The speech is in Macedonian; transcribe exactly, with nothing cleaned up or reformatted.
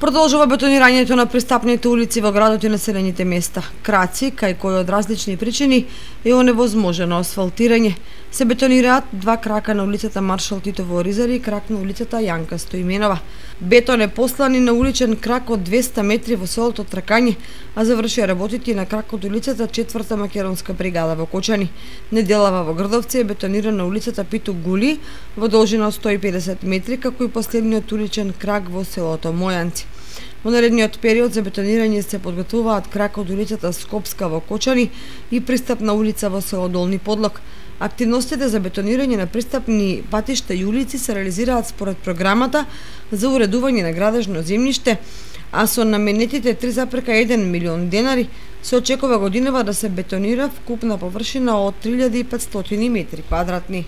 Продолжува бетонирањето на пристапните улици во градот и населените места. Краци, кај кои од различни причини е оневозможено асфалтирање. Се бетонираат два крака на улицата Маршал Тито во Оризари и крак на улицата Јанка Стоименова. Бетон е послан и на уличен крак од двесте метри во селото Тракање, а завршија работите и на крак од улицата Четврта македонска бригада во Кочани. Неделава во Грдовци е бетонирана улицата Питу Гули во должина од сто и педесет метри, како и последниот уличен крак во селото Мојанци. Во наредниот период за бетонирање се подготвуваат крак од улицата Скопска во Кочани и пристапна улица во село Долни Подлог. Активностите за бетонирање на пристапни патишта и улици се реализираат според програмата за уредување на градежно земјиште, а со наменетите три запирка еден милион денари се очекува годинава да се бетонира вкупна површина од три илјади и петстотини метри квадратни.